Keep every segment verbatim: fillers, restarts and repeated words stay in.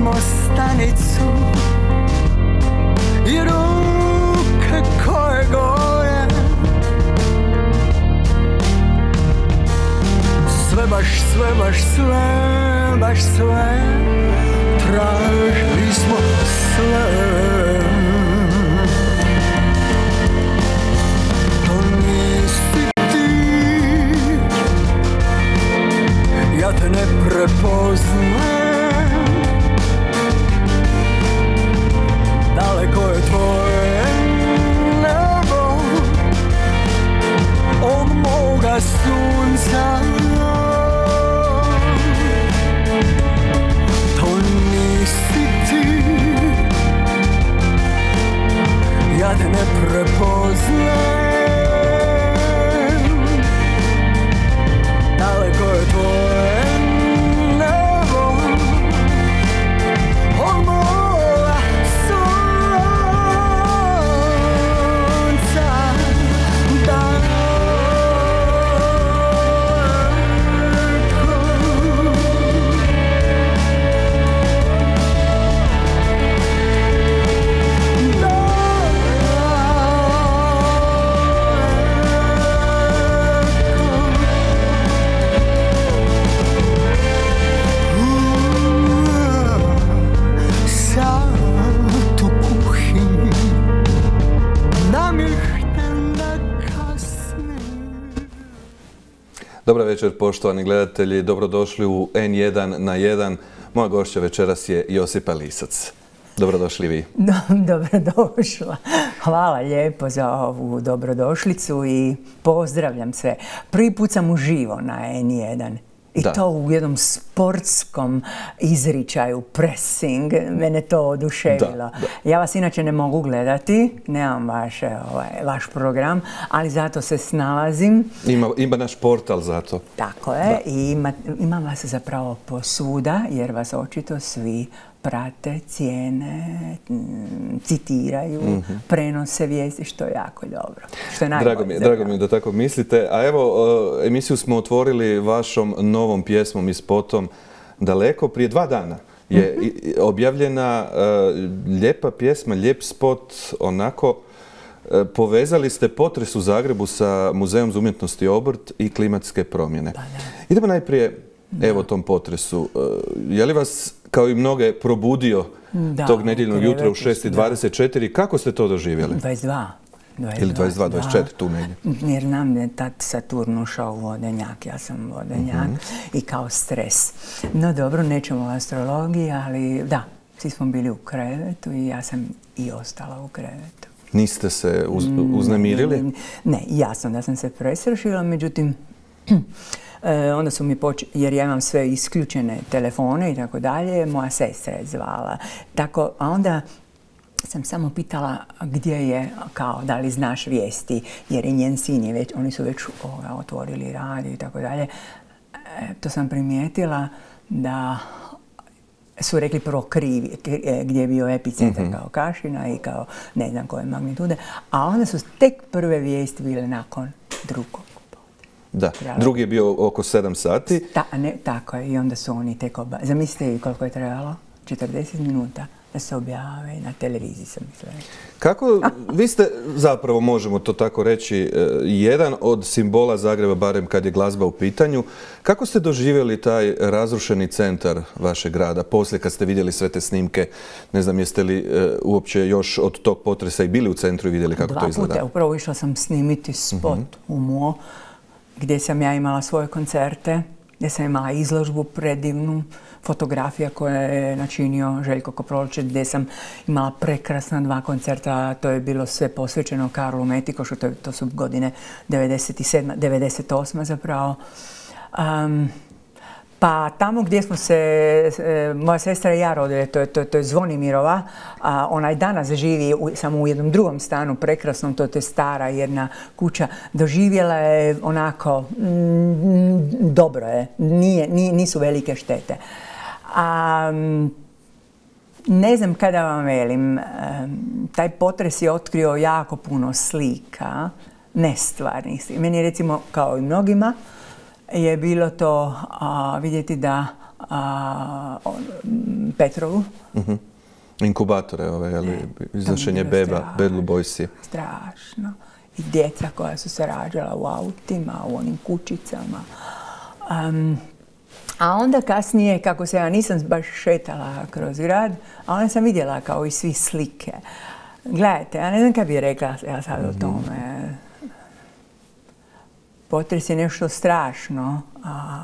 smo stanicu i ruke koje gore. Sve baš, sve baš, sve baš sve, tražili smo sve. To nisi ti, ja te ne prepoznajem. Daleko je tvoje nebo od moga sunca. To nisi ti, ja te ne prepoznajem. Daleko je tvoje nebo od moga sunca. Dobar večer, poštovani gledatelji, dobrodošli u en jedan na jedan. Moja gošća večeras je Josipa Lisac. Dobrodošli vi. Dobrodošla. Hvala lijepo za ovu dobrodošlicu i pozdravljam sve. Prvi put sam uživo na en jedan. I da. To u jednom sportskom izričaju, pressing, mene to oduševilo. Da, da. Ja vas inače ne mogu gledati, nemam vaš, ovaj, vaš program, ali zato se snalazim. Ima, ima naš portal zato. Tako je, da. I ima, imam vas zapravo posvuda, jer vas očito svi prate, cijene, citiraju, mm-hmm. prenose vijesti, što je jako dobro. Što je drago, mi, drago mi je da tako mislite. A evo, emisiju smo otvorili vašom novom pjesmom i spotom Daleko. Prije dva dana je mm-hmm. objavljena uh, lijepa pjesma, lijep spot, onako uh, povezali ste potres u Zagrebu sa Muzejom za umjetnost i obrt i klimatske promjene. Pa, idemo najprije da. evo tom potresu. Uh, je li vas kao i mnoge probudio da, tog nedjeljnog jutra u šest i dvadeset četiri. Kako ste to doživjeli? dvadeset dva. Ili dvadeset dva, dvadeset četiri, tu negdje. Jer nam je tad Saturn ušao u vodenjak, ja sam vodenjak mm-hmm. i kao stres. No dobro, nećemo o astrologiji, ali da, svi smo bili u krevetu i ja sam i ostala u krevetu. Niste se uz, uznemirili? Ne, ne, jasno da sam se presršila, međutim, E, onda su mi počeli, jer ja imam sve isključene telefone i tako dalje, moja sestra je zvala. Tako, a onda sam samo pitala gdje je, kao, da li znaš vijesti, jer i njen sin je već, oni su već ovoga, otvorili radio i tako dalje. E, to sam primijetila da su rekli prvo krivi, gdje je bio epicentar mm-hmm. kao Kašina i kao ne znam koje magnitude, a onda su tek prve vijesti bile nakon drugog. Da, drugi je bio oko sedam sati. Ta, ne, tako je, i onda su oni tek oba... Zamislite koliko je trebalo? četrdeset minuta da se objave na televiziji, sam mislila. Kako, vi ste zapravo, možemo to tako reći, jedan od simbola Zagreba, barem kad je glazba u pitanju. Kako ste doživjeli taj razrušeni centar vašeg grada, poslije kad ste vidjeli sve te snimke? Ne znam, jeste li uopće još od tog potresa i bili u centru i vidjeli kako Dva to izgleda? Dva puta, upravo išla sam snimiti spot mm-hmm. u Mo, gdje sam ja imala svoje koncerte, gdje sam imala izložbu predivnu, fotografija koja je načinio Željko Koprolić, gdje sam imala prekrasna dva koncerta, to je bilo sve posvećeno Karlu Metikošu, to, to su godine devedeset sedma, devedeset osma zapravo. Um, Pa tamo gdje smo se, e, moja sestra i ja rodile, to je, to, to je Zvonimirova, a ona i danas živi u, samo u jednom drugom stanu, prekrasnom, to, to je stara jedna kuća, doživjela je onako, mm, dobro je, nije, nije, nisu velike štete. A, ne znam kada vam velim, taj potres je otkrio jako puno slika, nestvarnih slika. Meni je recimo, kao i mnogima, je bilo to a, vidjeti da a, on, Petrovu. Uh-huh. Inkubatore, ove, ali, iznošenje beba, Bad Blue Boysi. Strašno. I djeca koja su se rađala u autima, u onim kućicama. Um, a onda kasnije, kako se ja nisam baš šetala kroz grad, a onda sam vidjela kao i svi slike. Gledajte, ja ne znam kada bih rekla ja sad o tome. Potres je nešto strašno, a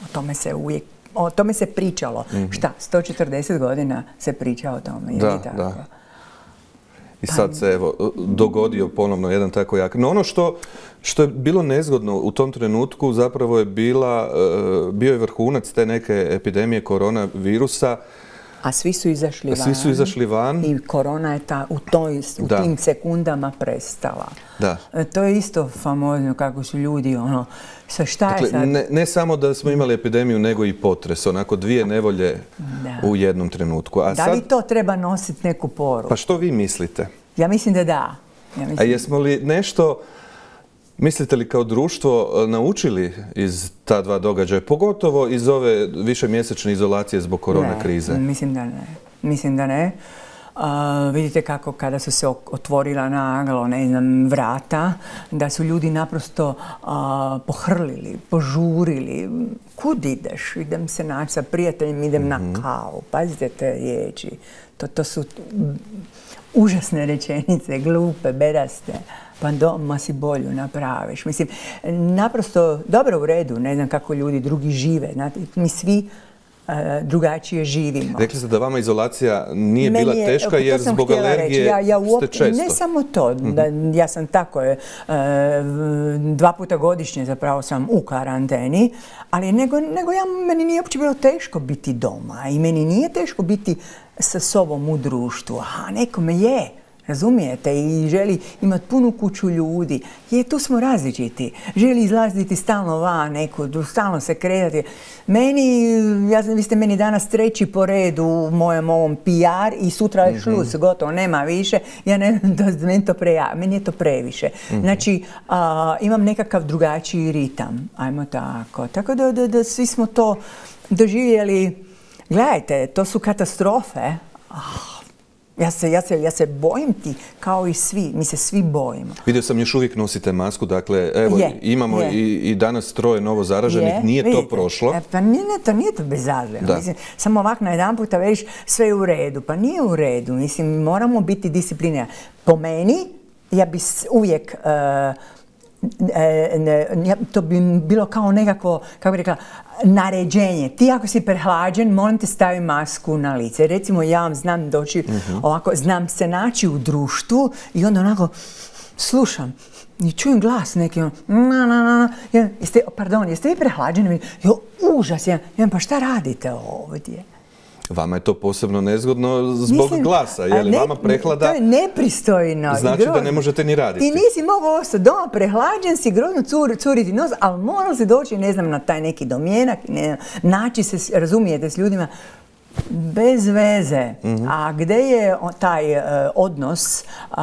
o tome se uvijek, o tome se pričalo. Mm-hmm. Šta, sto četrdeset godina se priča o tome, je da, li tako? Da. I sad se evo dogodio ponovno jedan tako jak. No ono što, što je bilo nezgodno u tom trenutku zapravo je bila, bio je vrhunac te neke epidemije koronavirusa. A svi su izašli van. Svi su izašli van. I korona je ta, u, toj, u tim sekundama prestala. Da. To je isto famozno kako su ljudi, ono, sa šta dakle, je sad... Ne, ne samo da smo imali epidemiju, nego i potres. Onako dvije nevolje da. U jednom trenutku. A da sad, li to treba nositi neku poruku? Pa što vi mislite? Ja mislim da da. Ja mislim... A jesmo li nešto... Mislite li kao društvo naučili iz ta dva događaja, pogotovo iz ove višemjesečne izolacije zbog korona krize? Ne, mislim da ne. Mislim da ne. Uh, vidite kako kada su se otvorila naglo, ne znam, vrata, da su ljudi naprosto uh, pohrlili, požurili. Kud ideš? Idem se naći sa prijateljem, idem mm-hmm. na kavu. Pazite te riječi. To, to su užasne rečenice, glupe, bedaste. Pa doma si bolju napraviš. Mislim, naprosto dobro u redu, ne znam kako ljudi drugi žive. Znate, mi svi uh, drugačije živimo. Rekli ste da vama izolacija nije Meni bila je, teška jer zbog alergije ja, ja uop... ste često. Ne samo to, mm-hmm. da, ja sam tako, uh, dva puta godišnje zapravo sam u karanteni, ali nego, nego ja, meni nije uopće bilo teško biti doma i meni nije teško biti sa sobom u društvu, a nekome je. Razumijete? I želi imati punu kuću ljudi. Je, tu smo različiti. Želi izlaziti stalno van, neko, stalno se kretati. Meni, ja, vi ste meni danas treći po redu u mojem ovom P R i sutra je šlus, mm-hmm. gotovo, nema više. Ja ne, to, meni, to preja, meni je to previše. Mm-hmm. Znači, a, imam nekakav drugačiji ritam. Ajmo tako. Tako da, da, da svi smo to doživjeli. Gledajte, to su katastrofe. Ah. Ja se, ja, se, ja se bojim ti kao i svi, mi se svi bojimo. Vidio sam još uvijek nosite masku, dakle evo je, imamo je. I, i danas troje novo zaraženih, je, nije vidite, to prošlo. E, pa nije, to nije to bezazleno, mislim, samo ovako na jedan puta već sve je u redu, pa nije u redu, mislim moramo biti disciplinirani. Po meni, ja bi uvijek... Uh, E, ne, to bi bilo kao nekako, kako bi rekla, naređenje. Ti ako si prehlađen, molim te stavi masku na lice. Recimo ja vam znam doći mm-hmm. ovako, znam se naći u društvu i onda onako slušam i čujem glas neki ono, na, na, na, na. Jeste, pardon, jeste vi prehlađeni? Jo, užas, ja, ja, pa šta radite ovdje? Vama je to posebno nezgodno zbog Mislim, glasa, je li ne, vama prehlada? To je nepristojno. Znači da ne možete ni raditi. Ti nisi mogao ostati doma, prehlađen si, grozno cur, curiti nos, ali moralo se doći, ne znam, na taj neki domjenak, ne, naći se, razumijete, s ljudima, bez veze. Mm-hmm. A gdje je taj uh, odnos, uh,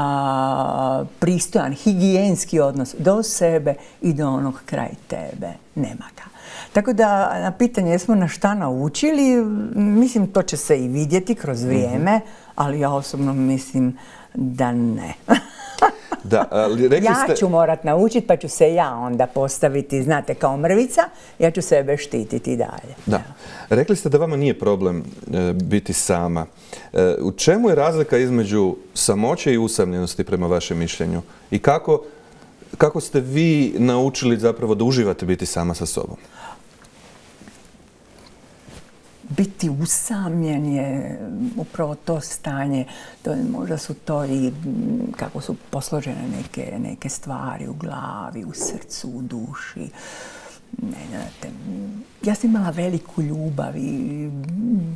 pristojan, higijenski odnos do sebe i do onog kraj tebe? Nema ga. Tako da na pitanje jesmo na šta naučili, mislim to će se i vidjeti kroz vrijeme, mm-hmm. ali ja osobno mislim da ne. Da, ali rekli ste... Ja ću morat naučiti pa ću se ja onda postaviti, znate, kao mrvica, ja ću sebe štititi dalje. Da. Rekli ste da vama nije problem e, biti sama. E, u čemu je razlika između samoće i usamljenosti prema vašem mišljenju? I kako, kako ste vi naučili zapravo da uživate biti sama sa sobom? Biti usamljen je upravo to stanje, to, možda su to i kako su posložene neke, neke stvari u glavi, u srcu, u duši. Ne, znate, ja sam imala veliku ljubav i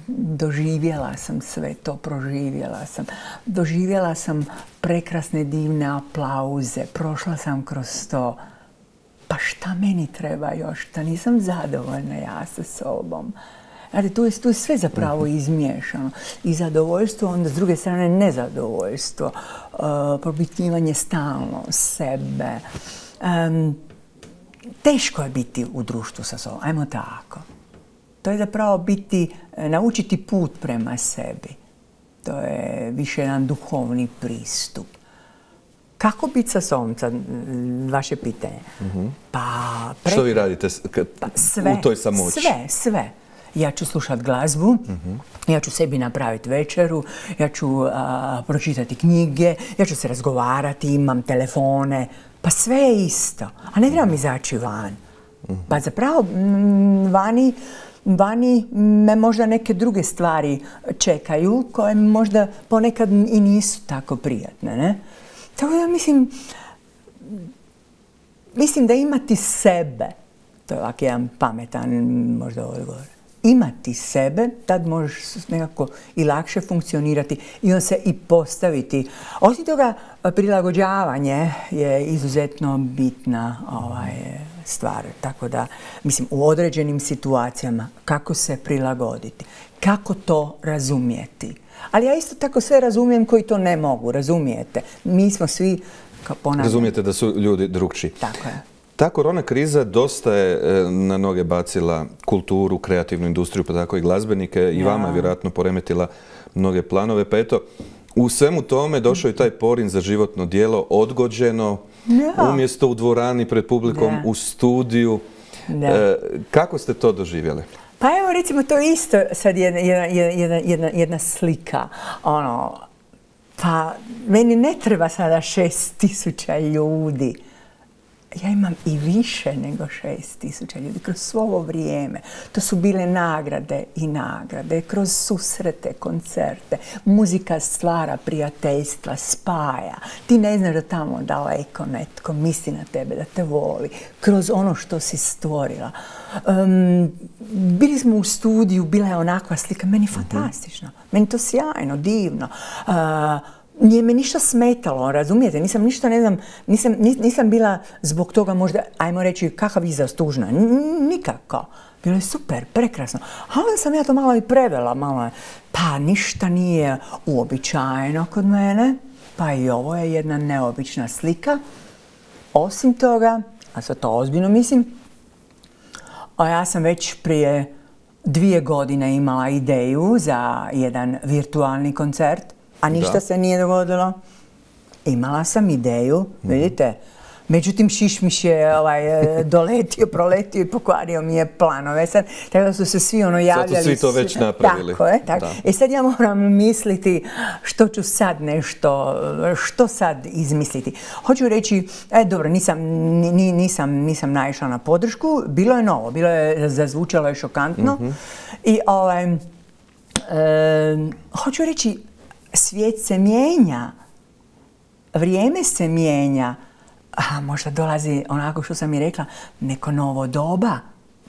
doživjela sam sve to, proživjela sam. Doživjela sam prekrasne, divne aplauze, prošla sam kroz to. Pa šta meni treba još? Da nisam zadovoljna ja sa sobom. Znate, tu je, tu je sve zapravo izmiješano. I zadovoljstvo, onda s druge strane nezadovoljstvo, uh, propitivanje stalno sebe. Um, teško je biti u društvu sa sobom, ajmo tako. To je zapravo biti, naučiti put prema sebi. To je više jedan duhovni pristup. Kako biti sa sobom, vaše pitanje? Mm-hmm. Pa, pre... Što vi radite pa, sve, u toj samoći? Sve, sve. Ja ću slušati glazbu, mm-hmm. ja ću sebi napraviti večeru, ja ću a, pročitati knjige, ja ću se razgovarati, imam telefone. Pa sve je isto. A ne trebam izaći van. Mm-hmm. Pa zapravo m, vani, vani me možda neke druge stvari čekaju koje možda ponekad i nisu tako prijatne, ne? Tako da mislim, mislim da imati sebe, to je ovak jedan pametan možda odgovor, imati sebe, tad možeš nekako i lakše funkcionirati i on se i postaviti. Osim toga, prilagođavanje je izuzetno bitna ovaj, stvar. Tako da, mislim, u određenim situacijama kako se prilagoditi, kako to razumjeti. Ali ja isto tako sve razumijem koji to ne mogu, razumijete? Mi smo svi, kao ponavljam... Razumijete da su ljudi drukčiji. Tako je. Ta korona kriza dosta je na noge bacila kulturu, kreativnu industriju, pa tako i glazbenike. I vama je vjerojatno poremetila mnoge planove. Pa eto, u svemu tome došao je taj porin za životno djelo, odgođeno, ja. umjesto u dvorani pred publikom, da. u studiju. E, kako ste to doživjeli? Pa evo recimo to je isto sad jedna, jedna, jedna, jedna slika. Ono, pa meni ne treba sada šest tisuća ljudi. Ja imam i više nego šest tisuća ljudi kroz svo ovo vrijeme. To su bile nagrade i nagrade, kroz susrete, koncerte. Muzika stvara prijateljstva, spaja. Ti ne znaš da tamo daleko netko misli na tebe, da te voli. Kroz ono što si stvorila. Um, bili smo u studiju, bila je onakva slika. Meni fantastično. Meni to sjajno, divno. Uh, Nije me ništa smetalo, razumijete? Nisam ništa, ne znam, nisam, nisam bila zbog toga možda, ajmo reći, kakav izraz tužna. Nikako. Bilo je super, prekrasno. A onda sam ja to malo i prevela, malo. Pa ništa nije uobičajeno kod mene, pa i ovo je jedna neobična slika. Osim toga, a sad to ozbiljno mislim, a ja sam već prije dvije godine imala ideju za jedan virtualni koncert, a ništa da. se nije dogodilo. Imala sam ideju, mm-hmm. vidite. Međutim, šišmiš je ovaj, doletio, proletio i pokvario mi je planove. Sad, tako da su se svi ono javljali. Sad su svi to već napravili. Tako je, tako. I sad ja moram misliti što ću sad nešto, što sad izmisliti. Hoću reći, e, dobro, nisam, ni, nisam, nisam naišla na podršku. Bilo je novo, bilo je, zazvučalo je šokantno. Mm-hmm. I ovaj, e, hoću reći, svijet se mijenja, vrijeme se mijenja, a možda dolazi onako što sam i rekla, neko novo doba.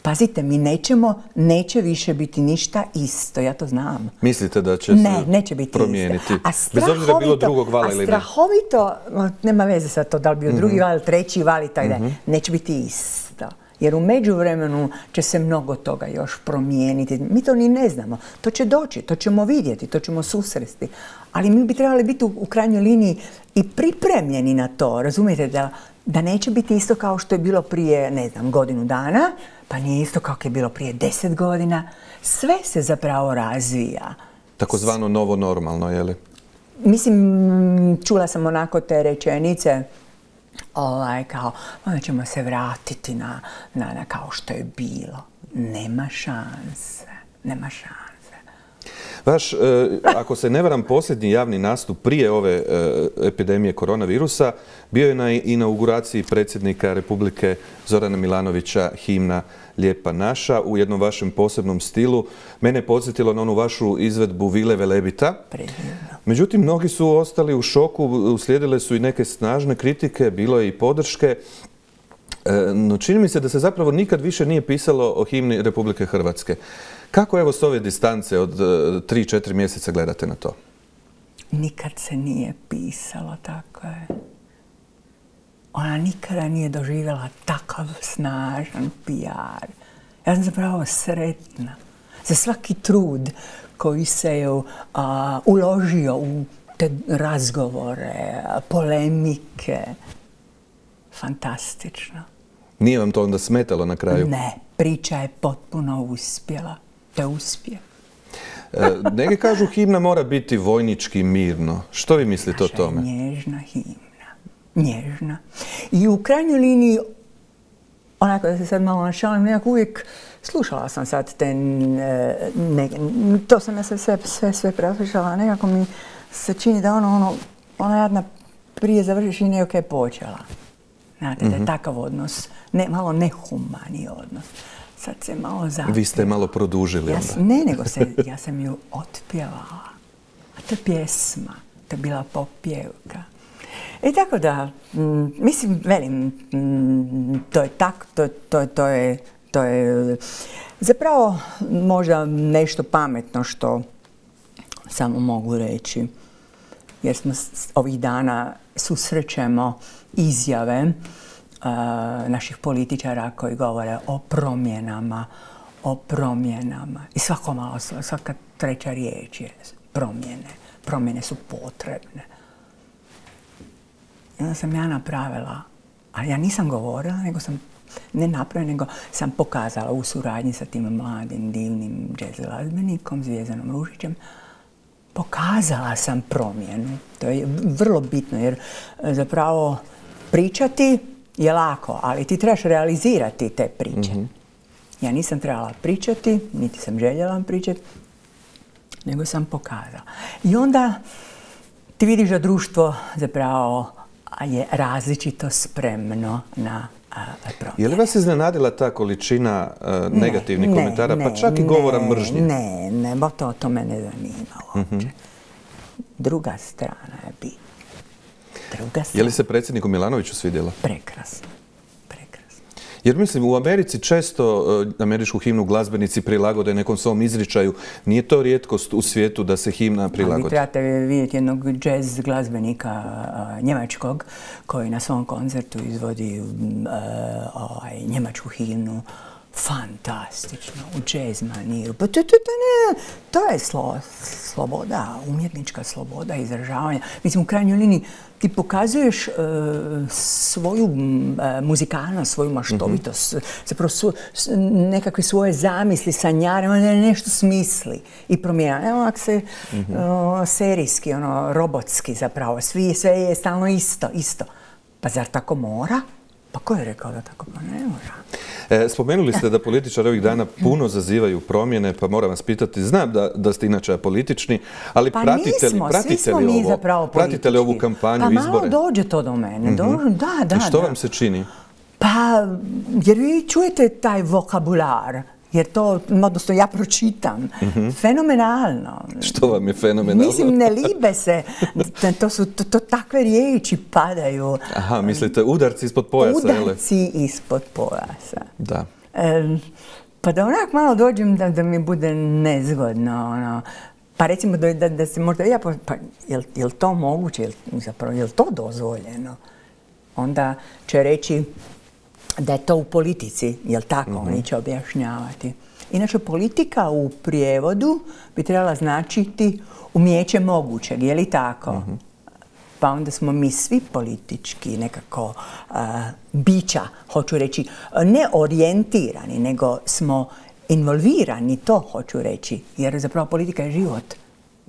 Pazite, mi nećemo, neće više biti ništa isto, ja to znam. Mislite da će ne, se neće biti promijeniti? Bez obzira bilo drugog vala ili ne? A strahovito, nema veze sa to da li bio mm-hmm. drugi val, treći val i tako da, mm-hmm. neće biti isto. Jer u međuvremenu će se mnogo toga još promijeniti. Mi to ni ne znamo. To će doći, to ćemo vidjeti, to ćemo susresti. Ali mi bi trebali biti u, u krajnjoj liniji i pripremljeni na to. Razumijete da, da neće biti isto kao što je bilo prije, ne znam, godinu dana, pa nije isto kao je bilo prije deset godina. Sve se zapravo razvija. Takozvano novo normalno, je li? Mislim, čula sam onako te rečenice, ovaj, kao, onda ćemo se vratiti na, na, na kao što je bilo. Nema šanse, nema šanse. Vaš, eh, ako se ne varam, posljednji javni nastup prije ove eh, epidemije koronavirusa bio je na inauguraciji predsjednika Republike Zorana Milanovića himna Lijepa naša u jednom vašem posebnom stilu. Mene je podsjetilo na onu vašu izvedbu Vile Velebita. Međutim, mnogi su ostali u šoku, uslijedile su i neke snažne kritike, bilo je i podrške. No čini mi se da se zapravo nikad više nije pisalo o himni Republike Hrvatske. Kako evo s ove distance od tri četiri mjeseca gledate na to? Nikad se nije pisalo, tako je. Ona nikada nije doživjela takav snažan P R. Ja sam zapravo sretna za svaki trud koji se je uh, uložio u te razgovore, polemike. Fantastično. Nije vam to onda smetalo na kraju? Ne, priča je potpuno uspjela. To je uspjeh. E, neki kažu himna mora biti vojnički mirno. Što vi mislite Naša o tome? je nježna himna. Nježna. I u krajnjoj liniji, onako da se sad malo našalim, nekako uvijek slušala sam sad te, ne, to sam ja sve, sve, sve, sve preslušala, nekako mi se čini da ono, ono, ona jadna prije završiš i nekako je počela. Znate, da je takav odnos, ne, malo nehumani odnos. Sad se malo zapjela. Vi ste malo produžili ja, onda. Ne, nego se, ja sam ju otpjevala. A to je pjesma, to je bila popjevka. I tako da, m, mislim, velim, m, to je tak, to, to, to je, to je zapravo možda nešto pametno što samo mogu reći. Jer smo ovih dana susrećemo izjave uh, naših političara koji govore o promjenama, o promjenama. I svako malo, svaka treća riječ je promjene. Promjene su potrebne. I onda sam ja napravila, ali ja nisam govorila, nego sam ne napravila, nego sam pokazala u suradnji sa tim mladim, divnim jazz glazbenikom, Zvijezdanom Ružićem, pokazala sam promjenu. To je vrlo bitno jer zapravo pričati je lako, ali ti trebaš realizirati te priče. Mm-hmm. Ja nisam trebala pričati, niti sam željela pričati, nego sam pokazala. I onda ti vidiš da društvo zapravo je različito spremno na promjene. Je li vas iznenadila ta količina uh, negativnih ne, komentara, ne, pa čak i govora ne, mržnje? Ne, ne, bo to, to me ne zanima uopće. Mm-hmm. Druga strana je bitna. Druga strana. Je li se predsjedniku Milanoviću svidjela? Prekrasno. Prekrasno. Jer mislim, u Americi često uh, američku himnu glazbenici prilagode nekom svom izričaju. Nije to rijetkost u svijetu da se himna prilagodi? Vi trebate vidjeti jednog jazz glazbenika uh, njemačkog koji na svom koncertu izvodi uh, ovaj, njemačku himnu. Fantastično, u jazz maniru. Pa to, to, to, ne, to je slo, sloboda, umjetnička sloboda izražavanja. Mislim, u krajnjoj liniji ti pokazuješ uh, svoju uh, muzikalnost, svoju maštovitost, mm-hmm. zapravo su, nekakve svoje zamisli, sanjare, on nešto smisli i promijena. Evo ako se mm-hmm. uh, serijski, ono, robotski zapravo, svi, sve je stalno isto, isto. Pa zar tako mora? Pa ko je rekao da tako pa ne mora? E, spomenuli ste da političari ovih dana puno zazivaju promjene, pa moram vas pitati, znam da, da ste inače apolitični, ali pa pratite nismo, li, pratite li ovo? Zapravo pratite li ovu kampanju, pa izbore? Pa malo dođe to do mene. Mm-hmm. Do, da, da, I što da. vam se čini? Pa, jer vi čujete taj vokabular. Jer to, odnosno ja pročitam, mm-hmm. fenomenalno. Što vam je fenomenalno? Mislim, ne libe se, to su to, to takve riječi padaju. Aha, mislite udarci ispod pojasa, jel? Udarci ispod pojasa. Da. E, pa da onak malo dođem da, da mi bude nezgodno, ono. Pa recimo da, da, da se možda, ja, pa jel, jel to moguće, jel, zapravo, jel to dozvoljeno? Onda će reći da je to u politici, jel tako, mm-hmm. oni će objašnjavati. Inače, politika u prijevodu bi trebala značiti umijeće mogućeg, je li tako? Mm-hmm. Pa onda smo mi svi politički nekako uh, bića, hoću reći, ne orijentirani, nego smo involvirani, to hoću reći, jer zapravo politika je život.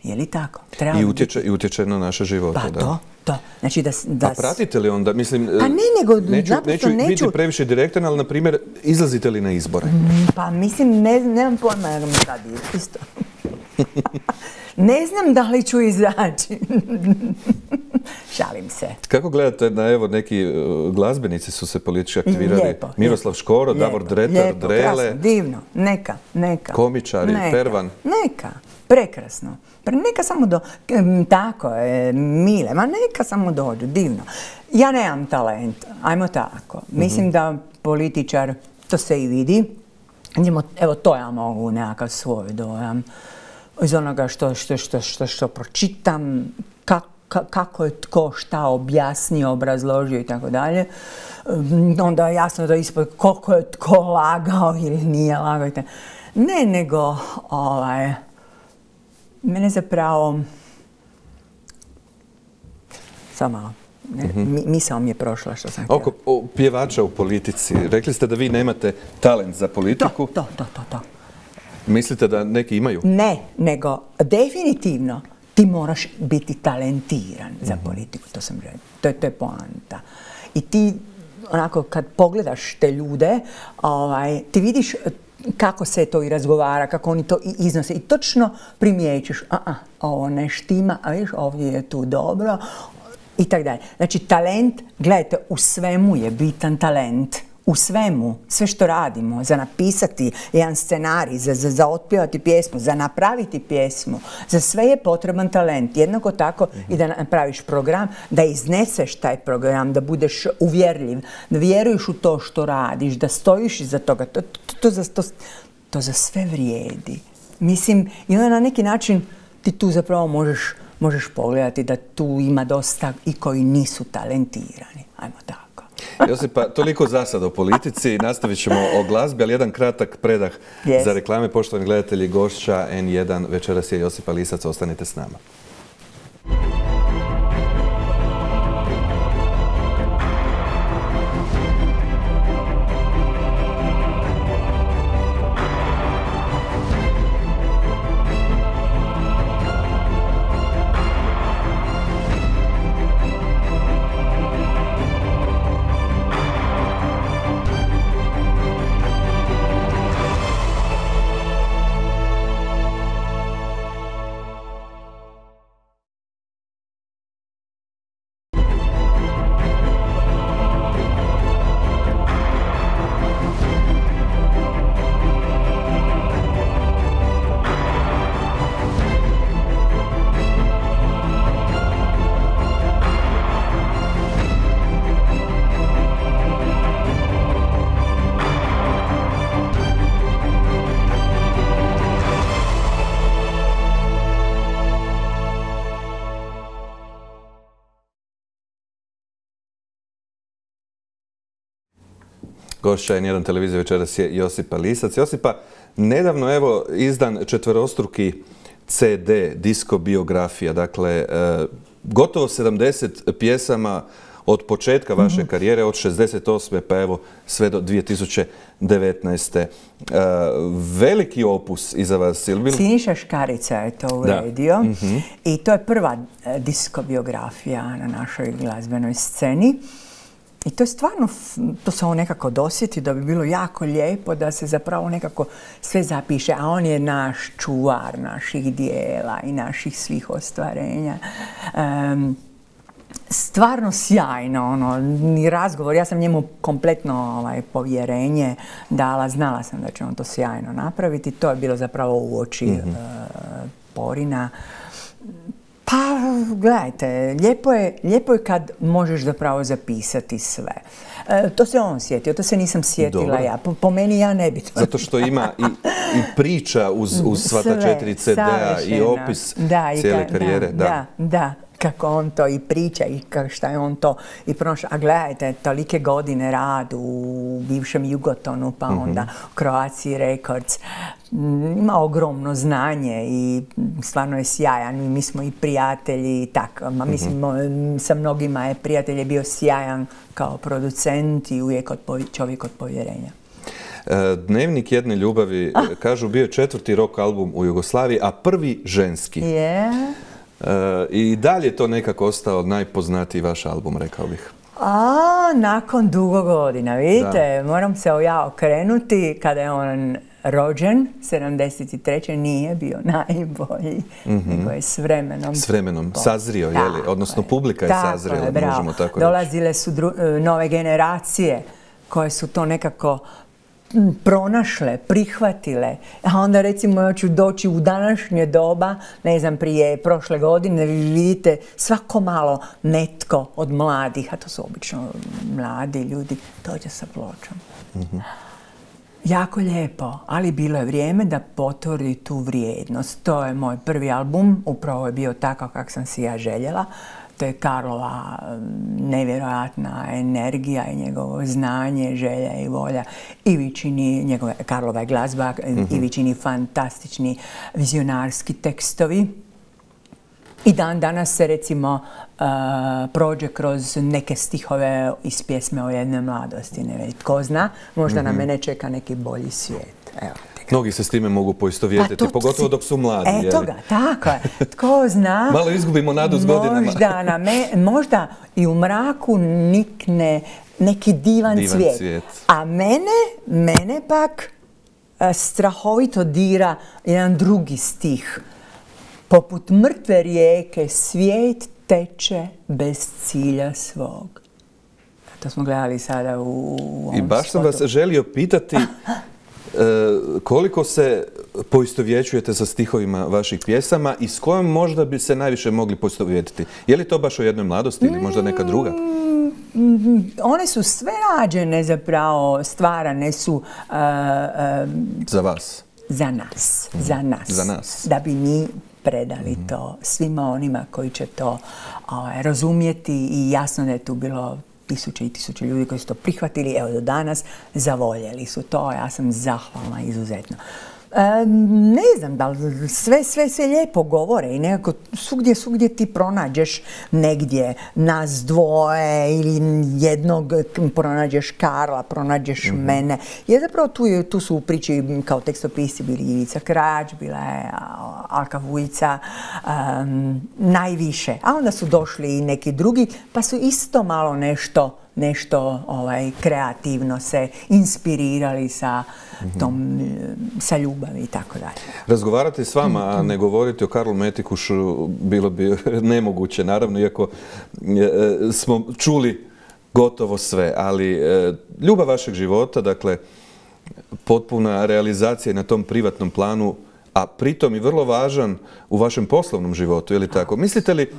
Je li tako? Treba I utječe, i utječe na naše živote, pa da. To, to. Znači da, da... A pratite li onda, mislim, pa ne, nego, neću, neću, neću biti previše direktan, ali na primjer, izlazite li na izbore? Pa mislim, ne, nemam pojma jer mi sad isto. Ne znam da li ću izaći. Šalim se. Kako gledate na, evo, neki uh, glazbenici su se politički aktivirali? Lijepo, Miroslav lijepo, Škoro, lijepo, Davor Dretar, lijepo, Drele. Krasno, divno, neka, neka. Komičari, neka, Pervan. Neka, prekrasno. Neka samo do... Tako je, mile, ma neka samo dođu, divno. Ja nemam talent, ajmo tako. Mislim mm-hmm. da političar, to se i vidi, evo to ja mogu nekakav svoj dojam iz onoga što, što, što, što, što pročitam, kako kako je tko šta objasnio, obrazložio i tako dalje. Onda je jasno da ispod koliko je tko lagao ili nije lagao. Ne, nego ovaj, mene zapravo samo malo, Misao mi je prošla što sam htjela. Oko o, pjevača u politici, rekli ste da vi nemate talent za politiku. To, to, to, to. Mislite da neki imaju? Ne, nego definitivno ti moraš biti talentiran za politiku, to sam rekla. To je, to je poanta. I ti, onako, kad pogledaš te ljude, ovaj, ti vidiš kako se to i razgovara, kako oni to i iznose. I točno primijećiš, a, a, ovo ne štima, a vidiš, ovdje je tu dobro, i tako dalje. Znači, talent, gledajte, u svemu je bitan talent. U svemu, sve što radimo, za napisati jedan scenarij, za, za, za otpjevati pjesmu, za napraviti pjesmu, za sve je potreban talent. Jednako tako i da napraviš program, da izneseš taj program, da budeš uvjerljiv, da vjeruješ u to što radiš, da stojiš iza toga. To, to, to, za, to, to za sve vrijedi. Mislim, i onda na neki način ti tu zapravo možeš, možeš pogledati da tu ima dosta i koji nisu talentirani. Ajmo tako. Josipa, toliko za sad o politici, nastavit ćemo o glazbi, ali jedan kratak predah yes. za reklame. Poštovani gledatelji, gošća en jedan večeras je Josipa Lisac, ostanite s nama. Gošća en jedan televizije večeras je Josipa Lisac. Josipa, nedavno evo izdan četverostruki ce de, disko biografija, dakle gotovo sedamdeset pjesama od početka vaše karijere, od šezdeset osme pa evo sve do dvije tisuće devetnaeste. Veliki opus iza vas. Siniša Škarica je to uredio mm-hmm. i to je prva disko biografija na našoj glazbenoj sceni. I to je stvarno, to se on nekako dosjeti da bi bilo jako lijepo da se zapravo nekako sve zapiše, a on je naš čuvar naših dijela i naših svih ostvarenja. Um, stvarno sjajno, ono, ni razgovor, ja sam njemu kompletno ovaj, povjerenje dala, znala sam da će on to sjajno napraviti, to je bilo zapravo u oči mm-hmm. uh, Porina. Pa, gledajte, lijepo je, lijepo je kad možeš zapravo zapisati sve. E, to se on sjetio, to se nisam sjetila Dobar. ja. Po, po meni ja ne bi to... Zato što ima i, i priča uz, uz sva ta četiri ce de a i opis da, cijele i ka, karijere. Da, da, da, da, kako on to i priča i šta je on to i prošao. A gledajte, tolike godine rad u bivšem Jugotonu, pa onda mm-hmm. Croatia Records. Ima ogromno znanje i stvarno je sjajan. Mi smo i prijatelji i tako. Ma, mislim, mm-hmm. sa mnogima je prijatelj je bio sjajan kao producent i uvijek od čovjek od povjerenja. Dnevnik jedne ljubavi, ah. kažu, bio je četvrti rock album u Jugoslaviji, a prvi ženski. Yeah. I dalje je to nekako ostao najpoznatiji vaš album, rekao bih. A, nakon dugo godina, vidite, da. Moram se ja okrenuti kada je on rođen, sedamdeset treće nije bio najbolji, mm-hmm. nego je s vremenom... S vremenom, po... sazrio, je li? Odnosno, publika je sazrila, je, možemo tako reći. Dolazile su dru- nove generacije koje su to nekako pronašle, prihvatile. A onda recimo ja ću doći u današnje doba, ne znam, prije prošle godine, vi vidite svako malo netko od mladih, a to su obično mladi ljudi, dođe sa pločom. Mm-hmm. Jako lijepo, ali bilo je vrijeme da potvrdi tu vrijednost. To je moj prvi album, upravo je bio takav kak sam si ja željela. To je Karlova nevjerojatna energija i njegovo znanje, želja i volja. Ivičini, njegove, Karlova je glazba, mm-hmm. Ivičini fantastični vizionarski tekstovi. I dan danas se recimo uh, prođe kroz neke stihove iz pjesme o jednoj mladosti. Ne već, tko zna, možda mm-hmm. na mene čeka neki bolji svijet. Evo. Mnogi se s time mogu poistovjetiti, pa pogotovo dok su mladi. Eto ga, tako je. Tko zna... Malo izgubimo nadu s godinama. Možda, na me, možda i u mraku nikne neki divan, divan cvijet. cvijet. A mene, mene pak a, strahovito dira jedan drugi stih. Poput mrtve rijeke svijet teče bez cilja svog. To smo gledali sada u, u ovom I baš sam spotu. vas želio pitati koliko se poistovjećujete sa stihovima vaših pjesama i s kojom možda bi se najviše mogli poistovjetiti? Je li to baš o jednoj mladosti ili možda neka druga? Mm, one su sve rađene zapravo, stvarane su... Uh, uh, za vas? Za nas, mm. za nas. Za nas. Da bi mi predali mm. to svima onima koji će to ovaj, razumjeti i jasno da je tu bilo tisuće i tisuće ljudi koji su to prihvatili, evo do danas, zavoljeli su to, ja sam zahvalna izuzetno. E, ne znam da li sve, sve, sve lijepo govore i nekako svugdje, svugdje ti pronađeš negdje nas dvoje ili jednog, pronađeš Karla, pronađeš mm-hmm. mene. Jer zapravo tu, je, tu su u priči kao tekstopisci bili Ivica Krač, bila je Alka Vujica, um, najviše. A onda su došli i neki drugi, pa su isto malo nešto nešto ovaj, kreativno se inspirirali sa tom, sa ljubavi i tako dalje. Razgovarati s vama, a ne govoriti o Karlu Metikušu bilo bi nemoguće, naravno, iako smo čuli gotovo sve, ali ljubav vašeg života, dakle, potpuna realizacija na tom privatnom planu, a pritom i vrlo važan u vašem poslovnom životu, je li tako? Mislite li,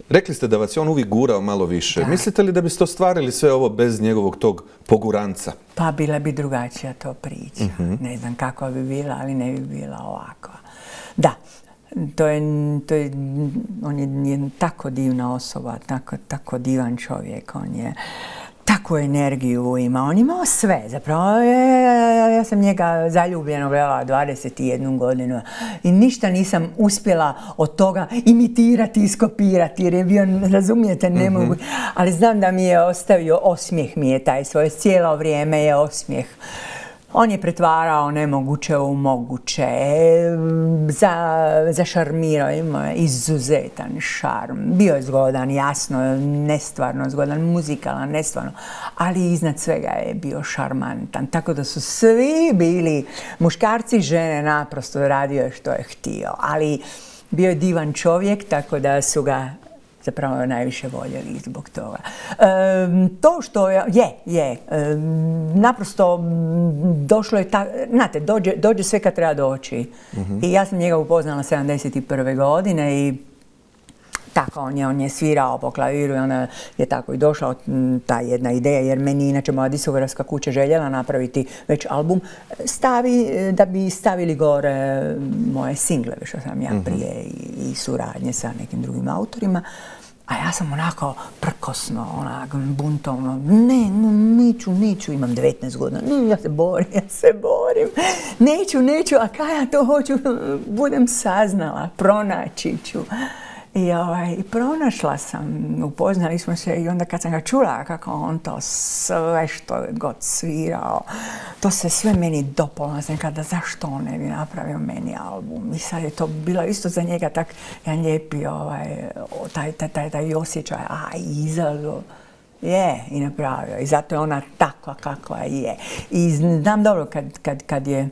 rekli ste da vas je on uvijek gurao malo više. Da. Mislite li da biste ostvarili sve ovo bez njegovog tog poguranca? Pa bila bi drugačija to priča. Uh-huh. Ne znam kakva bi bila, ali ne bi bila ovakva. Da, to je, to je, on je jedna tako divna osoba, tako, tako divan čovjek. On je takvu energiju ima. On imao sve. Zapravo, ja, ja sam njega zaljubljeno gledala dvadeset jednu godinu i ništa nisam uspjela od toga imitirati, iskopirati, jer je bio, razumijete, ne mogu. Mm-hmm. Ali znam da mi je ostavio, osmijeh mi je taj svoj, cijelo vrijeme je osmijeh. On je pretvarao nemoguće u moguće, za, zašarmirao, imao je izuzetan šarm. Bio je zgodan, jasno, nestvarno zgodan, muzikalan, nestvarno, ali iznad svega je bio šarmantan. Tako da su svi bili, muškarci i žene, naprosto radio je što je htio. Ali bio je divan čovjek, tako da su ga zapravo najviše voljeli zbog toga. E, to što je, je, je, e, naprosto došlo je tako, znate, dođe, dođe sve kad treba doći. Mm-hmm. I ja sam njega upoznala sedamdeset prve godine i tako, on je, on je svirao po klaviru i onda je tako i došla ta jedna ideja, jer meni inače moja diskografska kuća željela napraviti već album, stavi, da bi stavili gore moje singleve, što sam ja prije i, i suradnje sa nekim drugim autorima. A ja sam onako prkosno, onak, buntovno, ne, no, neću, neću, imam devetnaest godina, ne, ja se borim, ja se borim, neću, neću, a kada ja to hoću, budem saznala, pronaći ću. I, ovaj, I pronašla sam, upoznali smo se i onda kad sam ga čula kako on to sve što je god svirao, to se sve meni dopalo. Sam kada zašto on ne bi napravio meni album. I sad je to bilo isto za njega tak jedan lijepi ovaj, taj, taj, taj, taj osjećaj, a izazo. Je, i napravio. I zato je ona takva kakva je. I znam dobro kad, kad, kad je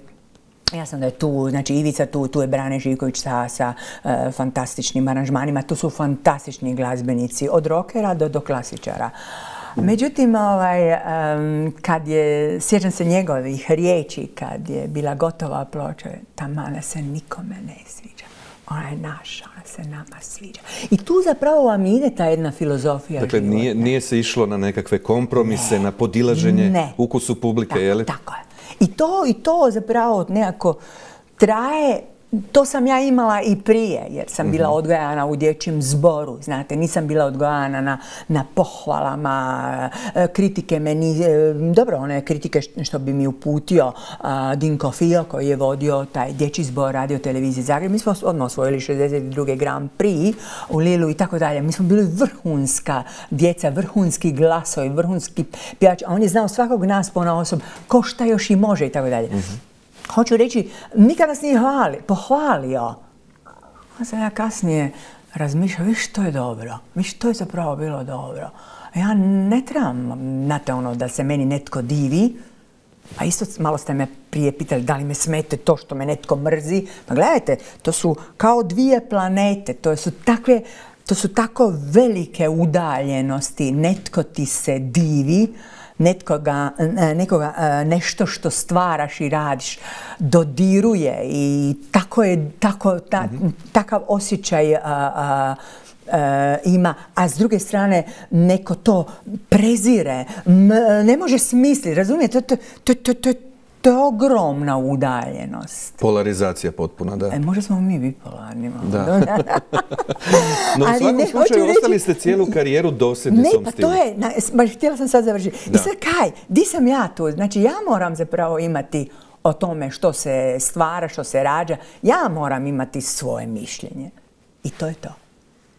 ja sam da je tu, znači Ivica tu, tu je Brane Živković sa, sa uh, fantastičnim aranžmanima, tu su fantastični glazbenici, od rokera do, do klasičara. Međutim, ovaj, um, kad je, sjećam se njegovih riječi, kad je bila gotova ploča, ta mana se nikome ne sviđa. Ona je naša, ona se nama sviđa. I tu zapravo vam ide ta jedna filozofija dakle, života. Nije, nije se išlo na nekakve kompromise, ne, na podilaženje ne. ukusu publike, da, je li? Tako je. I to, i to zapravo nekako traje to sam ja imala i prije, jer sam bila odgajana u dječjem zboru, znate, nisam bila odgajana na, na pohvalama, kritike meni, dobro, one kritike što bi mi uputio a, Dinko Fio, koji je vodio taj dječji zbor Radio Televizije Zagreb. Mi smo odmah osvojili šezdeset drugi Grand Prix u Lilu i tako dalje. Mi smo bili vrhunska djeca, vrhunski glasovi, vrhunski pjevači, a on je znao svakog nas ponaosob, ko šta još i može i tako dalje. Hoću reći, nikad nas nije hvali, pohvalio. A sam ja kasnije razmišljala, viš što je dobro, viš što je zapravo bilo dobro. Ja ne trebam, znate ono, da se meni netko divi. Pa isto malo ste me prije pitali da li me smete to što me netko mrzi. Pa gledajte, to su kao dvije planete, to su takve, to su tako velike udaljenosti. Netko ti se divi, netkoga, nekoga, nešto što stvaraš i radiš dodiruje i tako je, tako, ta, mm-hmm. takav osjećaj a, a, a, ima, a s druge strane neko to prezire, M, ne može smisliti, razumijete, to, to, to, to, to je ogromna udaljenost. Polarizacija potpuna, da. E, možda smo mi bipolarni. Da. No, u svakom ne, slučaju ostali reći, ste cijelu karijeru dosljedni ne, s tom pa stilu. to je, na, baš htjela sam sad završiti. Da. I sad kaj, di sam ja tu? Znači, ja moram zapravo imati o tome što se stvara, što se rađa. Ja moram imati svoje mišljenje. I to je to.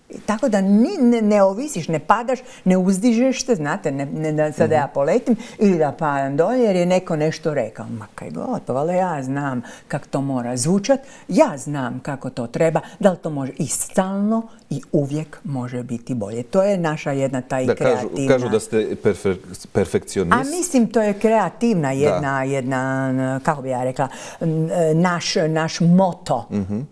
I tako da ni, ne, ne ovisiš, ne padaš, ne uzdižeš se, znate, ne, ne da sada ja poletim ili da padam dolje jer je neko nešto rekao. Ma kaj god, pa valjda ja znam kako to mora zvučat, ja znam kako to treba, da li to može i stalno i uvijek može biti bolje. To je naša jedna taj da, kreativna... Kažu, kažu da ste perfe, perfekcionist. A mislim, to je kreativna jedna, jedna kako bi ja rekla, naš, naš moto. Mm-hmm.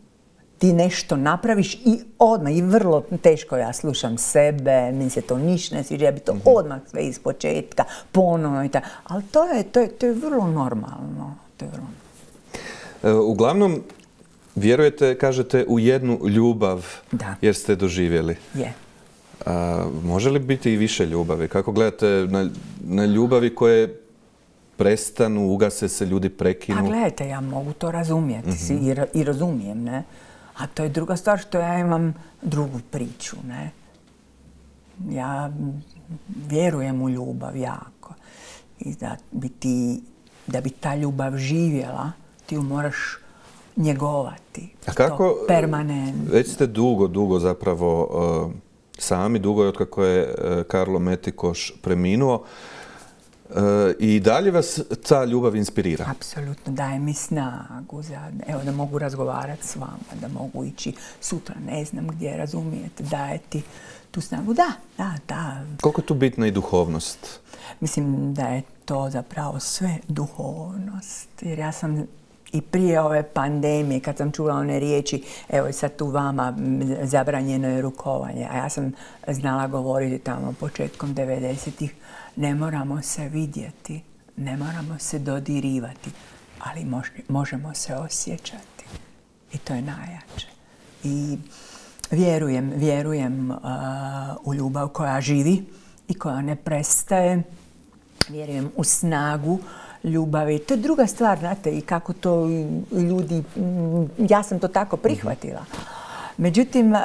Ti nešto napraviš i odmah, i vrlo teško ja slušam sebe, meni se to ništa ne sviđa, ja bi to mm-hmm. odmah sve iz početka, ponovno i tako. Ali to je, to, je, to je vrlo normalno. To je vrlo normalno. E, uglavnom, vjerujete, kažete, u jednu ljubav da. Jer ste doživjeli. Je. A, može li biti i više ljubavi? Kako gledate na, na ljubavi koje prestanu, ugase se, ljudi prekinu? Pa gledajte, ja mogu to razumjeti mm-hmm. i, i razumijem, ne? A to je druga stvar što ja imam drugu priču, ne? Ja vjerujem u ljubav jako. I da bi, ti, da bi ta ljubav živjela, ti ju moraš njegovati. A kako? Permanentno. Već ste dugo, dugo zapravo uh, sami, dugo je otkako je uh, Karlo Metikoš preminuo. Uh, I dalje vas ta ljubav inspirira? Apsolutno, daje mi snagu za, evo, da mogu razgovarati s vama, da mogu ići sutra, ne znam gdje, razumijete, daje ti tu snagu. Da, da, da. Koliko je tu bitna i duhovnost? Mislim da je to zapravo sve duhovnost, jer ja sam i prije ove pandemije, kad sam čula one riječi, evo sad tu vama zabranjeno je rukovanje, a ja sam znala govoriti tamo početkom devedesetih, ne moramo se vidjeti, ne moramo se dodirivati, ali mož, možemo se osjećati. I to je najjače. I vjerujem, vjerujem uh, u ljubav koja živi i koja ne prestaje. Vjerujem u snagu ljubavi. To je druga stvar, znate, i kako to ljudi, ja sam to tako prihvatila. Međutim, uh,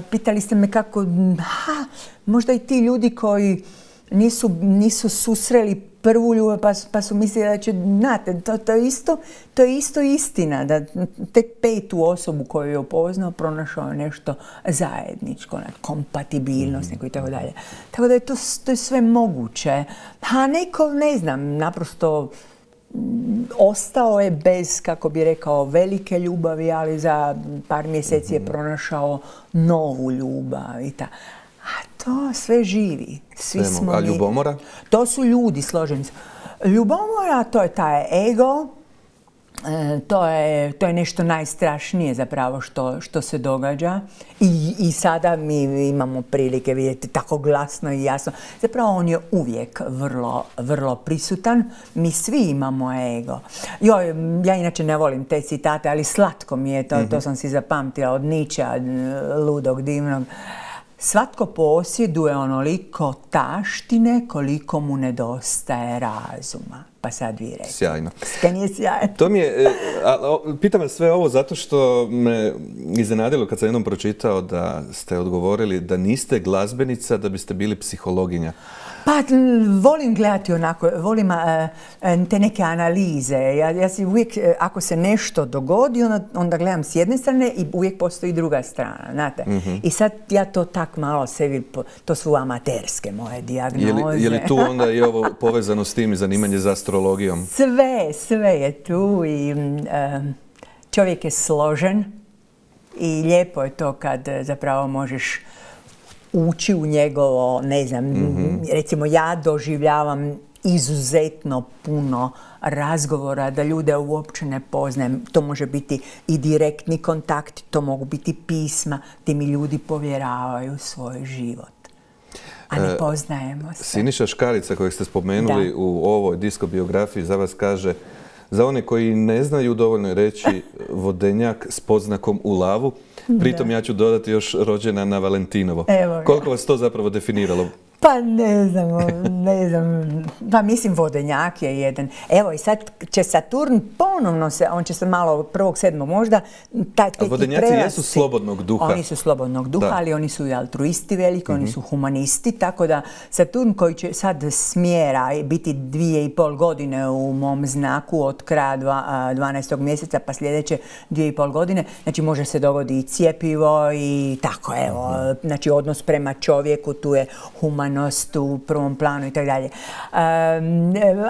pitali ste me kako, ha, možda i ti ljudi koji nisu, nisu susreli prvu ljubav pa, pa su mislili da će, znate, to, to, je isto, to je isto istina, da tek petu osobu koju je upoznao pronašao nešto zajedničko, kompatibilnost mm-hmm. neko i tako dalje. Tako da je to, to je sve moguće. A neko, ne znam, naprosto ostao je bez, kako bi rekao, velike ljubavi, ali za par mjeseci mm-hmm. je pronašao novu ljubav i tako. A to sve živi. Svi smo A ljubomora? Mi. To su ljudi, složeni su. Ljubomora, to je taj ego, e, to, je, to je nešto najstrašnije zapravo što, što se događa. I, I sada mi imamo prilike vidjeti tako glasno i jasno. Zapravo on je uvijek vrlo, vrlo prisutan. Mi svi imamo ego. Joj, ja inače ne volim te citate, ali slatko mi je to, mm-hmm. to sam si zapamtila od Nietzschea, ludog, divnog. Svatko posjeduje onoliko taštine koliko mu nedostaje razuma. Pa sad vi rekli. Sjajno. Sve nije sjajno. To mi je, a, a, pitam vas sve ovo zato što me iznenadilo kad sam jednom pročitao da ste odgovorili da niste glazbenica, da biste bili psihologinja. Pa volim gledati onako, volim uh, te neke analize. Ja, ja si uvijek, ako se nešto dogodi, onda, onda gledam s jedne strane i uvijek postoji druga strana, znate. Mm-hmm. I sad ja to tak malo sebi, to su amaterske moje dijagnoze. Je li, je li tu onda i ovo povezano s tim i zanimanje za astrologijom? Sve, sve je tu i um, čovjek je složen i lijepo je to kad zapravo možeš ući u njegovo, ne znam, mm-hmm. recimo ja doživljavam izuzetno puno razgovora da ljude uopće ne poznajem. To može biti i direktni kontakt, to mogu biti pisma gdje mi ljudi povjeravaju svoj život. A ne poznajemo se. Siniša Škarica kojeg ste spomenuli da. U ovoj disko biografiji za vas kaže: za one koji ne znaju dovoljno je reći vodenjak s poznakom u lavu. Pritom da. Ja ću dodati još rođena na Valentinovo. Evo, koliko vas to zapravo definiralo? Pa ne znam, ne znam, pa mislim vodenjak je jedan. Evo i sad će Saturn ponovno se, on će se malo prvog sedmog možda... Taj, a vodenjaci prerasti. Jesu slobodnog duha. Oni su slobodnog duha, da. Ali oni su i altruisti veliki, mm-hmm. oni su humanisti, tako da Saturn koji će sad smjera biti dvije i pol godine u mom znaku od kraja dvanaestog mjeseca pa sljedeće dvije i pol godine, znači može se dogoditi i cjepivo i tako evo, mm-hmm. znači odnos prema čovjeku, tu je human u prvom planu i tako dalje.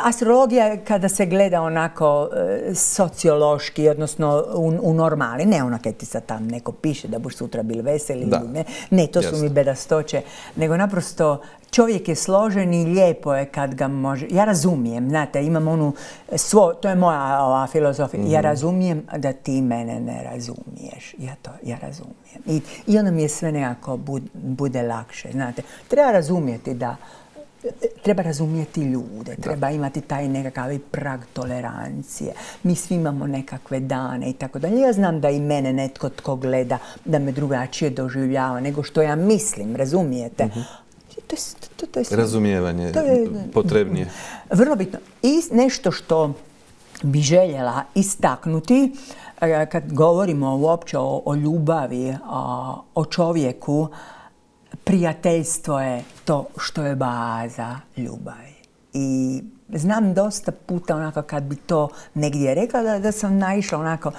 Astrologija kada se gleda onako e, sociološki, odnosno u, u normali, ne ono kad ti sad tam neko piše da buš sutra bili veseli, da. Ne, ne, to Jasne. Su mi bedastoće, nego naprosto čovjek je složen i lijepo je kad ga može... Ja razumijem, znate, imam onu... Svo, to je moja ova filozofija. Mm-hmm. Ja razumijem da ti mene ne razumiješ. Ja to, ja razumijem. I, i onda mi je sve nekako bud, bude lakše, znate. Treba razumjeti da... Treba razumjeti ljude, da. Treba imati taj nekakav prag tolerancije. Mi svi imamo nekakve dane i tako dalje. Ja znam da i mene netko tko gleda da me drugačije doživljava nego što ja mislim, razumijete? Mm-hmm. To je, to, to je razumijevanje to je potrebnije. Vrlo bitno. I nešto što bi željela istaknuti kad govorimo uopće o, o ljubavi, o, o čovjeku, prijateljstvo je to što je baza ljubavi. I znam dosta puta onako kad bi to negdje rekla da, da sam naišla onako,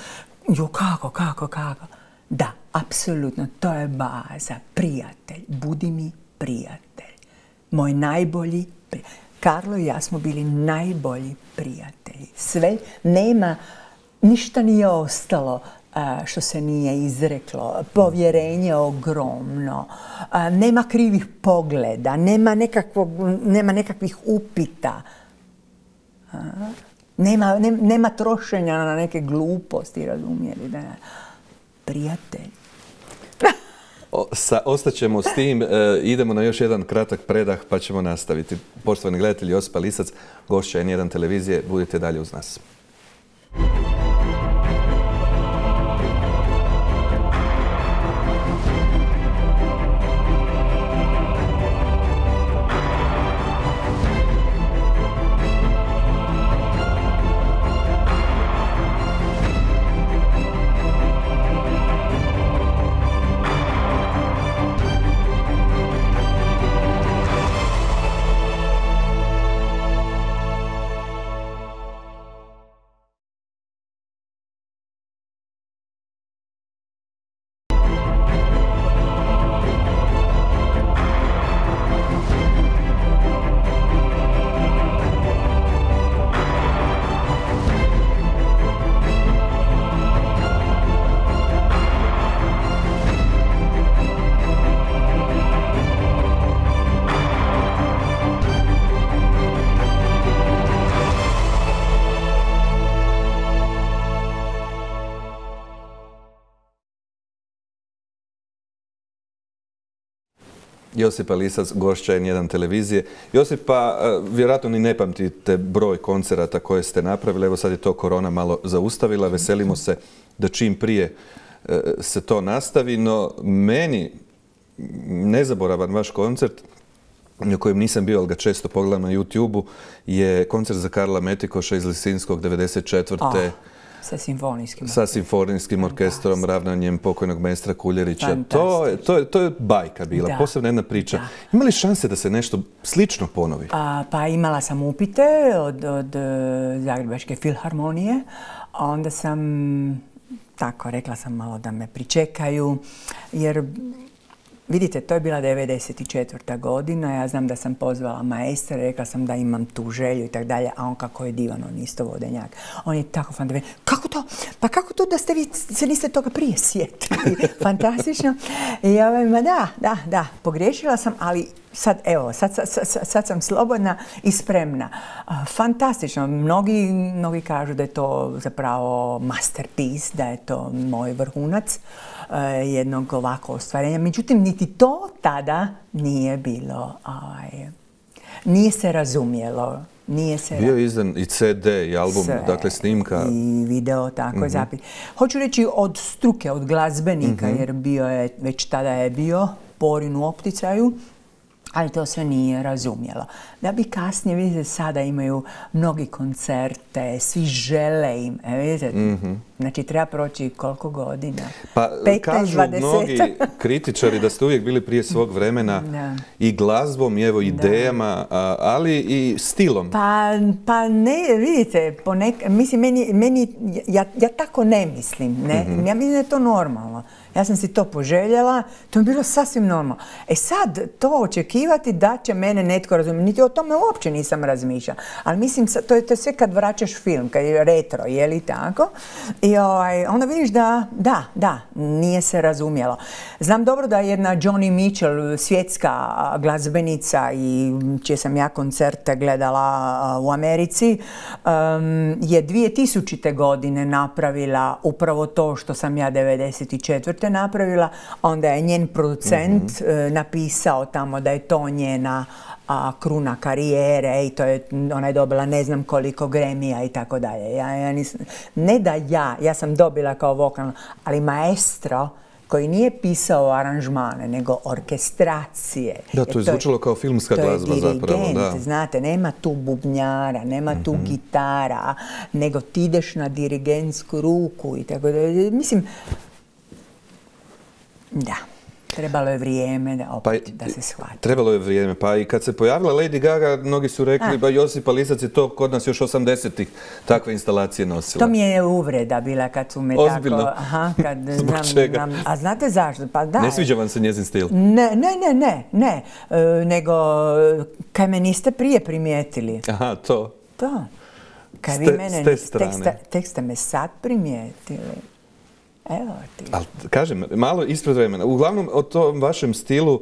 jo kako, kako, kako. Da, apsolutno, to je baza. Prijatelj, budi mi prijatelj. Moj najbolji prijatelj. Karlo i ja smo bili najbolji prijatelji. Sve, nema, ništa nije ostalo a, što se nije izreklo. Povjerenje ogromno. A, nema krivih pogleda, nema, nekakvog, nema nekakvih upita. A, nema, ne, nema trošenja na neke gluposti, razumijeli? Da, prijatelj. O, sa, ostaćemo s tim, e, idemo na još jedan kratak predah pa ćemo nastaviti. Poštovani gledatelji, Josipa Lisac, gošća N jedan televizije, budite dalje uz nas. Josipa Lisac, gošća N jedan televizije. Josipa, vjerojatno ni ne pamtite broj koncerata koje ste napravili. Evo sad je to korona malo zaustavila. Veselimo se da čim prije se to nastavi. No meni nezaboravan vaš koncert na kojem nisam bio, ali ga često pogledam na YouTube-u, je koncert za Karla Metikoša iz Lisinskog devedeset četvrte. Oh, sa simfonijskim Sa simfonijskim orkestrom, ravnanjem pokojnog maestra Kuljerića. To je, to, je, to je bajka bila, da. Posebna jedna priča. Da. Ima li šanse da se nešto slično ponovi? A, pa imala sam upite od, od Zagrebačke filharmonije, a onda sam, tako, rekla sam malo da me pričekaju, jer vidite, to je bila devedeset četvrta godina, ja znam da sam pozvala maestra, rekla sam da imam tu želju i tako dalje, a on kako je divan, on isto vodenjak. On je tako fantastičan. Kako to? Pa kako to da ste vi se niste toga prije sjetili? Fantastično. I ja ovaj, ma da, da, da, pogriješila sam, ali sad, evo, sad, sad, sad, sad sam slobodna i spremna. Fantastično. Mnogi, mnogi kažu da je to zapravo masterpiece, da je to moj vrhunac jednog ovako ostvarenja. Međutim, niti to tada nije bilo, ovaj, nije se razumjelo. Nije se Bio je izdan i ce de i album, sve, dakle snimka. I video, tako je, mm-hmm. zapis. Hoću reći od struke, od glazbenika, mm-hmm. jer bio je, već tada je bio Porin u opticaju, ali to sve nije razumjelo. Da bi kasnije, vidite, sada imaju mnogi koncerte, svi žele im, e, vidite, mm-hmm. znači treba proći koliko godina? Pa petnaest, kažu dvadeset mnogi kritičari da ste uvijek bili prije svog vremena da. I glazbom, i evo idejama, a, ali i stilom. Pa, pa ne, vidite, ponek, mislim, meni, meni ja, ja tako ne mislim, ne? Mm-hmm. Ja mislim da je to normalno. Ja sam si to poželjela, to je bilo sasvim normalno. E sad, to očekivati da će mene netko razumjeti, niti o tome uopće nisam razmišljala. Ali mislim, to je to sve kad vraćaš film, kad je retro, je li tako? I ovaj, onda vidiš da, da, da, nije se razumjelo. Znam dobro da jedna Joni Mitchell, svjetska glazbenica i čije sam ja koncerte gledala u Americi, um, je dvije tisućite godine napravila upravo to što sam ja devedeset četvrte napravila, onda je njen producent mm-hmm. napisao tamo da je to njena a, kruna karijere i to je, ona je dobila ne znam koliko Grammy-a i tako dalje. Ja, ja nisam, ne da ja, ja sam dobila kao vokalno, ali maestro koji nije pisao aranžmane, nego orkestracije. Da, to je zvučalo kao filmska glazba zapravo. To je dirigent, znate, nema tu bubnjara, nema tu mm-hmm. gitara, nego ti ideš na dirigentsku ruku i tako da, mislim, da, trebalo je vrijeme da opet pa, da se shvati. Trebalo je vrijeme, pa i kad se pojavila Lady Gaga, mnogi su rekli, ba Josipa Lisac je to kod nas još osamdesetih takve instalacije nosila. To mi je uvreda bila kad su me Ozbiljno? Tako... Aha, kad Zbog znam, čega? Znam, a znate zašto? Pa da. Ne sviđa vam se njezin stil? Ne, ne, ne, ne, ne. E, nego, kaj me niste prije primijetili. Aha, to. To. Kaj ste, vi mene, s te tek, ste, tek ste me sad primijetili. Evo ti. Ali, kažem, malo ispred vremena. Uglavnom, o tom vašem stilu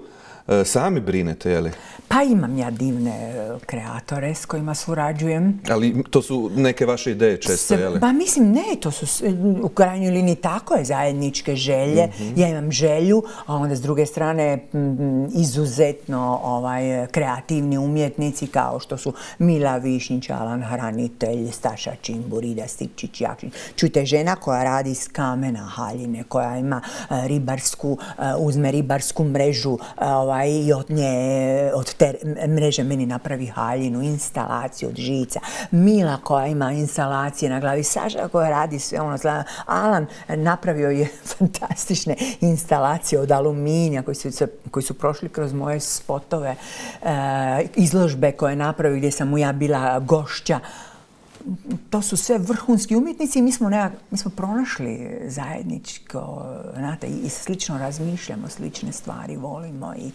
e, sami brinete, je li? Pa imam ja divne kreatore s kojima surađujem. Ali to su neke vaše ideje često, je li? Pa mislim, ne, to su u krajnjoj liniji tako je, zajedničke želje. Mm-hmm. Ja imam želju, a onda s druge strane m, izuzetno ovaj, kreativni umjetnici kao što su Mila Višnjić, Alan Hranitelj, Staša Čimbur, Ida Stipčić, Jakšić. Čujte, žena koja radi iz kamena haljine, koja ima uh, ribarsku, uh, uzme ribarsku mrežu uh, ovaj, i od nje, od te mreže meni napravi haljinu, instalaciju od žica. Mila koja ima instalacije na glavi, Saša koja radi sve ono. Alan napravio je fantastične instalacije od aluminija koji su, koji su prošli kroz moje spotove, e, izložbe koje je napravio gdje sam mu ja bila gošća. To su sve vrhunski umjetnici i mi smo, nekak, mi smo pronašli zajedničko, znate, i slično razmišljamo, slične stvari volimo i,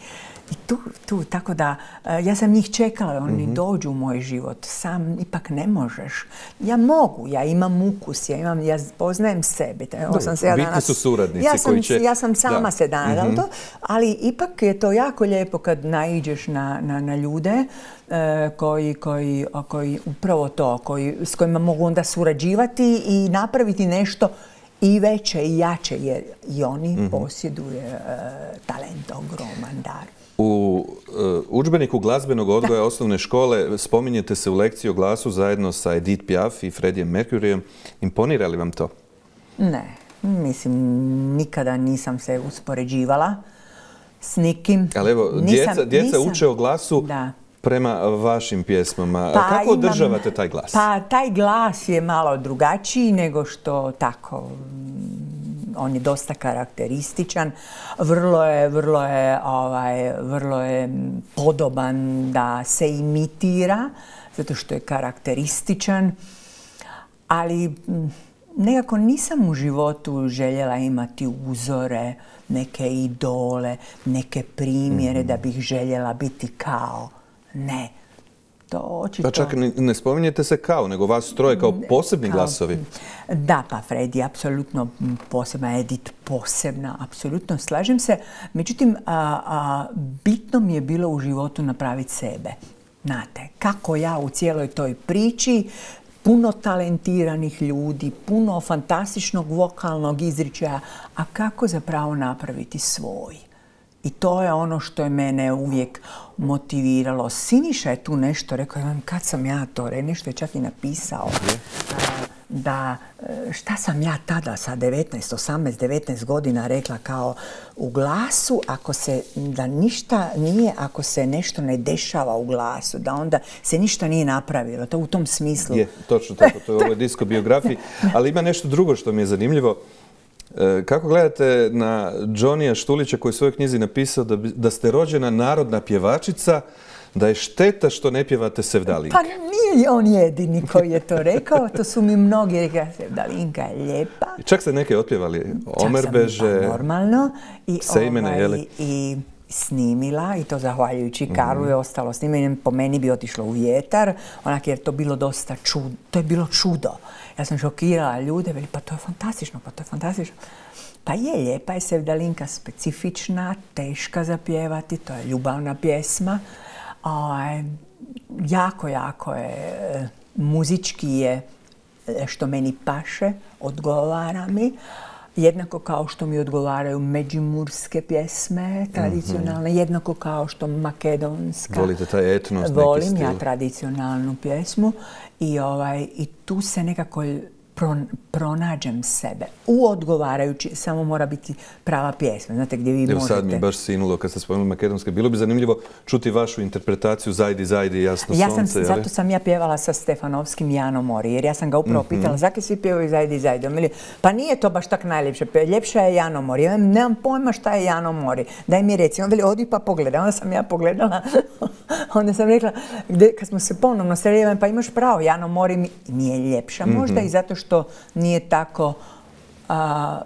i tu, tu, tako da ja sam njih čekala, oni mm-hmm. dođu u moj život, sam ipak ne možeš. Ja mogu, ja imam ukus, ja, imam, ja poznajem sebe. Dobro, sam se ja danas, su suradnici ja sam, koji će... Ja sam sama da. se danas, mm-hmm. to, ali ipak je to jako lijepo kad naiđeš na, na, na ljude e, koji, koji, koji upravo to, koji s kojima mogu onda surađivati i napraviti nešto i veće i jače, jer i oni mm-hmm. posjeduju uh, talent, ogroman dar. U uh, udžbeniku glazbenog odgoja da. osnovne škole spominjete se u lekciji o glasu zajedno sa Edith Piaf i Freddiem Mercuryjem. Imponira li vam to? Ne, mislim, nikada nisam se uspoređivala s nikim. Ali evo, nisam, djeca, djeca nisam, uče o glasu da. prema vašim pjesmama. Pa Kako imam, održavate taj glas? Pa taj glas je malo drugačiji nego što tako, on je dosta karakterističan. Vrlo je, vrlo je, ovaj, vrlo je podoban da se imitira, zato što je karakterističan. Ali nekako nisam u životu željela imati uzore, neke idole, neke primjere mm-hmm. da bih željela biti kao. Ne. To očito... Pa čak ne spominjete se kao, nego vas troje kao posebni kao, glasovi. Da, pa Fred je apsolutno posebna, Edith posebna, apsolutno slažem se. Međutim, a, a, bitno mi je bilo u životu napraviti sebe. Znate, kako ja u cijeloj toj priči, puno talentiranih ljudi, puno fantastičnog vokalnog izričaja, a kako zapravo napraviti svoj. I to je ono što je mene uvijek motiviralo. Siniša je tu nešto rekao, kad sam ja to, nešto je čak i napisao, da šta sam ja tada sa devetnaest, osamnaest, devetnaest godina rekla kao u glasu, ako se, da ništa nije, ako se nešto ne dešava u glasu, da onda se ništa nije napravilo. To u tom smislu. Je, točno tako, to je u ovoj diskobiografiji. Ali ima nešto drugo što mi je zanimljivo. Kako gledate na Johnnyja Štulića koji u svojoj knjizi napisao da, da ste rođena narodna pjevačica, da je šteta što ne pjevate Sevdalinke? Pa nije on jedini koji je to rekao, to su mi mnogi rekli, Sevdalinka je lijepa. I čak ste neke otpjevali, Omerbeže, čak sam normalno. I, Sejmene, ovaj, jeli? I snimila, i to zahvaljujući Karlu je ostalo snimanje, po meni bi otišlo u vjetar, onak jer to bilo dosta čudo, to je bilo čudo. Ja sam šokirala ljude, veli, pa to je fantastično, pa to je fantastično. Pa je, lijepa je Sevdalinka, specifična, teška za pjevati, to je ljubavna pjesma. O, jako, jako je, muzički je što meni paše, odgovara mi. Jednako kao što mi odgovaraju međimurske pjesme, tradicionalne, mm-hmm. jednako kao što makedonska. Volite taj etnos, neki Volim stil. Ja tradicionalnu pjesmu i, ovaj, i tu se nekako Pron, pronađem sebe u odgovarajući, samo mora biti prava pjesma, znate gdje vi Evo možete... sad mi je baš sinulo kad ste spomenuli makedonske. Bilo bi zanimljivo čuti vašu interpretaciju Zajdi, Zajdi, jasno ja sunce. Sam, zato sam ja pjevala sa Stefanovskim Jano Mori, jer ja sam ga upravo mm-hmm. pitala zakaj svi pjevaju Zajdi, Zajdi. Mili, pa nije to baš tak najljepše, ljepša je Jano Mori. Ja nemam pojma šta je Jano Mori, daj mi reci. On veli, odi pa pogledaj. Onda sam ja pogledala, onda sam rekla, gde, kad smo se ponovno sreli, pa imaš pravo, Jano Mori mi nije ljepša možda mm-hmm. i zato što nije tako a,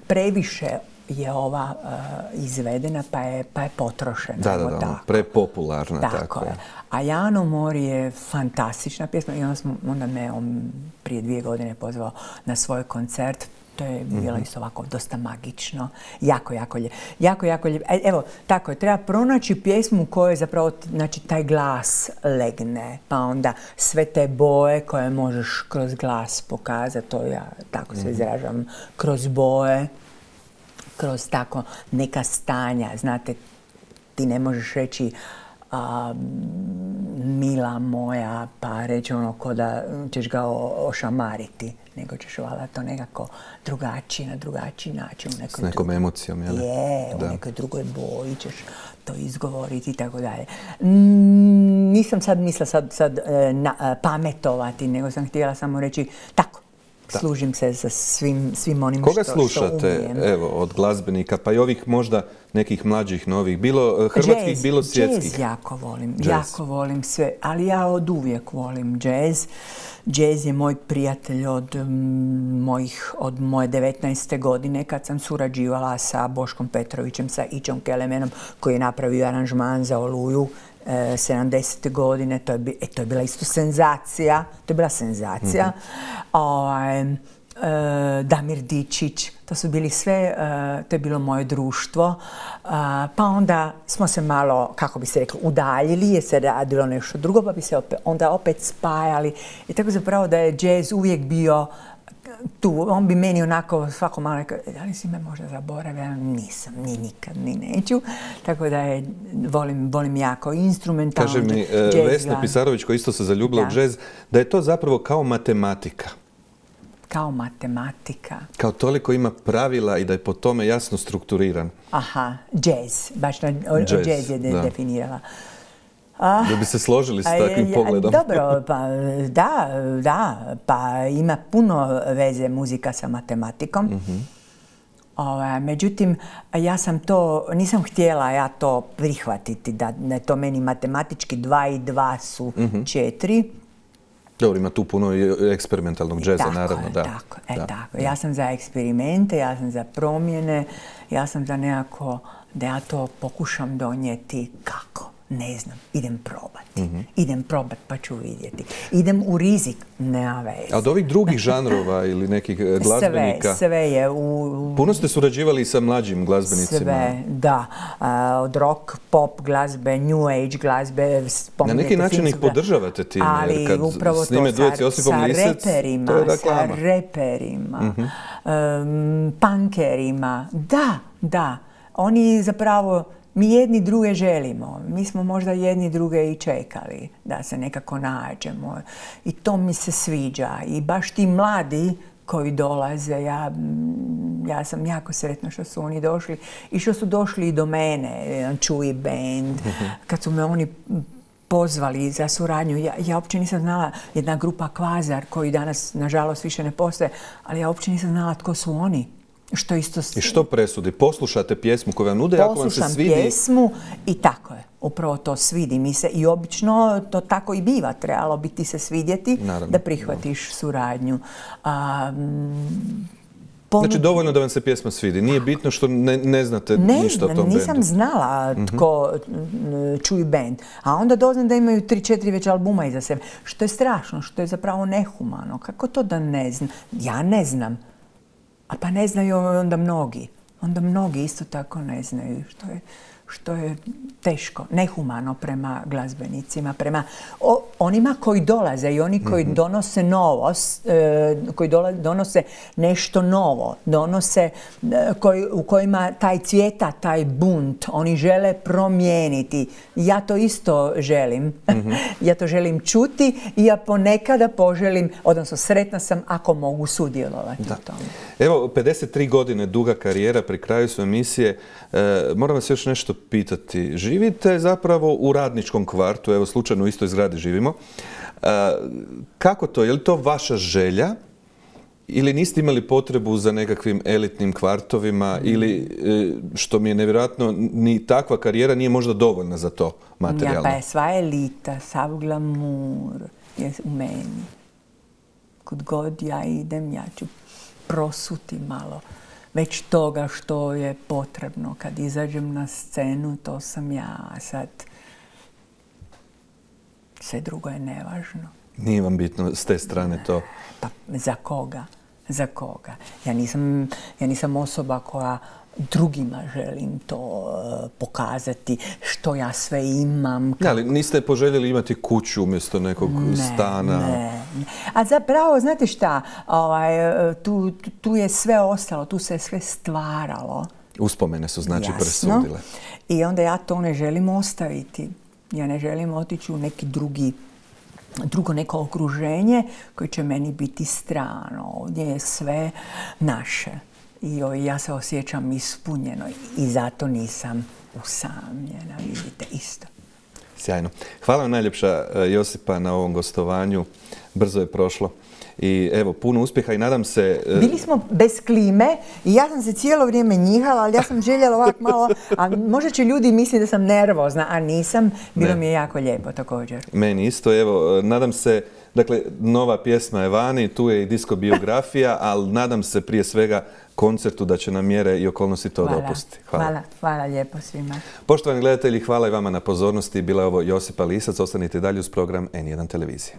previše je ova a, izvedena pa je, pa je potrošena. Da, da, da, tako. prepopularna. Tako, tako je. A Jano Mori je fantastična pjesma i onda, smo, onda me on prije dvije godine pozvao na svoj koncert. To je bilo mm-hmm. isto ovako dosta magično. Jako, jako lijepo. Jako, jako lijepo. Evo, tako je, treba pronaći pjesmu u kojoj zapravo znači, taj glas legne. Pa onda sve te boje koje možeš kroz glas pokazati, to ja tako se izražavam, kroz boje, kroz tako neka stanja. Znate, ti ne možeš reći a, mila moja, pa reći ono ko da ćeš ga ošamariti, nego ćeš valjda to nekako drugačiji, na drugačiji način. U nekoj S nekom drugoj, emocijom, jel? Je, da. u nekoj drugoj boji ćeš to izgovoriti i tako dalje. Mm, nisam sad mislila sad, sad na, pametovati, nego sam htjela samo reći tako. Da. Služim se sa svim, svim onim Koga što, slušate, što umijem. evo, od glazbenika, pa i ovih možda nekih mlađih, novih, bilo hrvatskih, jazz, bilo svjetskih? Jazz jako volim, jazz. jako volim sve, ali ja od uvijek volim jazz. Jazz je moj prijatelj od, m, mojih, od moje devetnaeste godine kad sam surađivala sa Boškom Petrovićem, sa Ićom Kelemenom koji je napravio aranžman za Oluju sedamdesete godine, to je, e, to je bila isto senzacija, to je bila senzacija. Mm-hmm. O, e, Damir Dičić, to su bili sve, e, to je bilo moje društvo. E, pa onda smo se malo, kako bi se reklo, udaljili jer se radilo nešto drugo, pa bi se opet, onda opet spajali. I tako zapravo da je jazz uvijek bio tu, on bi meni onako svako malo rekao, da li si me možda zaboravila? Nisam, ni nikad, ni neću. Tako da je, volim, volim jako instrumentalno. Kaže mi e, Vesna Pisarović, koja isto se zaljubila u džez, da je to zapravo kao matematika. kao matematika. Kao toliko ima pravila i da je po tome jasno strukturiran. Aha, džez. Baš na džez je de definirala. Ah, da bi se složili s takvim pogledom. Dobro, pa da, da, pa ima puno veze muzika sa matematikom. Mm-hmm. O, međutim, ja sam to, nisam htjela ja to prihvatiti, da, da je to meni matematički dva i dva su mm-hmm. četiri. Dobro, ima tu puno eksperimentalnog džeza, tako naravno. Je, da. Tako, e, da. tako. Ja sam za eksperimente, ja sam za promjene, ja sam za nekako da ja to pokušam donijeti kako. Ne znam, idem probati. Mm-hmm. Idem probati pa ću vidjeti. Idem u rizik, nema veze. A od ovih drugih žanrova ili nekih glazbenika? Sve, sve je. U... Puno ste surađivali sa mlađim glazbenicima? Sve, da. A, od rock, pop glazbe, new age glazbe. Na neki način ih podržavate time, ali jer kad upravo snime to, duet s Josipom sa Lisec, reperima, to je reklama. Sa reperima, mm-hmm. um, punkerima. Da, da. Oni zapravo... Mi jedni druge želimo. Mi smo možda jedni druge i čekali da se nekako nađemo. I to mi se sviđa. I baš ti mladi koji dolaze, ja, ja sam jako sretna što su oni došli i što su došli i do mene, Čuji band, kad su me oni pozvali za suradnju. Ja, ja uopće nisam znala, jedna grupa Kvazar, koji danas, nažalost, više ne postoje, ali ja uopće nisam znala tko su oni. Što isto... I što presudi? Poslušate pjesmu koju vam nude, ako vam se svidi... Poslušam pjesmu i tako je. Upravo to svidi mi se. I obično to tako i biva. Trebalo bi ti se svidjeti naravno, da prihvatiš da. suradnju. A, Ponud... Znači, dovoljno da vam se pjesma svidi. Nije bitno što ne, ne znate ne, ništa o tom bendu. Nisam znala tko mm-hmm. Čuji band. A onda doznam da imaju tri, četiri već albuma iza sebe. Što je strašno, što je zapravo nehumano. Kako to da ne znam? Ja ne znam. A pa ne znaju onda mnogi. Onda mnogi isto tako ne znaju, što je, što je teško, nehumano prema glazbenicima, prema o, onima koji dolaze i oni koji mm-hmm. donose novost, e, koji dola, donose nešto novo, donose e, koji, u kojima taj cvjeta, taj bunt, oni žele promijeniti. Ja to isto želim. Mm-hmm. Ja to želim čuti i ja ponekada poželim, odnosno sretna sam ako mogu sudjelovati da. u tome. Evo, pedeset tri godine duga karijera, pri kraju su emisije. E, moram vas još nešto pitati. Živite zapravo u Radničkom kvartu, evo slučajno u istoj zgradi živimo. E, kako to? Je li to vaša želja ili niste imali potrebu za nekakvim elitnim kvartovima ili, e, što mi je nevjerojatno, ni takva karijera nije možda dovoljna za to materijalno? Ja, pa je sva elita, sav glamur je u meni. Kud god ja idem, ja ću prosuti malo već toga što je potrebno. Kad izađem na scenu, to sam ja. Sad sve drugo je nevažno. Nije vam bitno s te strane to? Pa za koga? Za koga? Ja nisam, ja nisam osoba koja drugima želim to uh, pokazati, što ja sve imam. Kako... Ali niste poželjeli imati kuću umjesto nekog ne, stana? Ne, ne. A zapravo, znate šta, ovaj, tu, tu je sve ostalo, tu se sve stvaralo. Uspomene su znači Jasno. presudile. I onda ja to ne želim ostaviti. Ja ne želim otići u neki drugi drugo neko okruženje koje će meni biti strano. Ovdje je sve naše. I ja se osjećam ispunjeno i zato nisam usamljena, vidite, isto. Sjajno. Hvala vam najljepša, Josipa, na ovom gostovanju. Brzo je prošlo. I evo, puno uspjeha i nadam se... Bili smo bez klime i ja sam se cijelo vrijeme njihala, ali ja sam željela ovako malo... A možda će ljudi misliti da sam nervozna, a nisam. Bilo ne. mi je jako lijepo također. Meni isto. Evo, nadam se... Dakle, nova pjesma je vani, tu je i disko biografija, ali nadam se prije svega koncertu da će nam mjere i okolnosti to hvala, dopustiti. Hvala. hvala. Hvala lijepo svima. Poštovani gledatelji, hvala i vama na pozornosti. Bila je ovo Josipa Lisac. Ostanite dalje uz program N jedan televizije.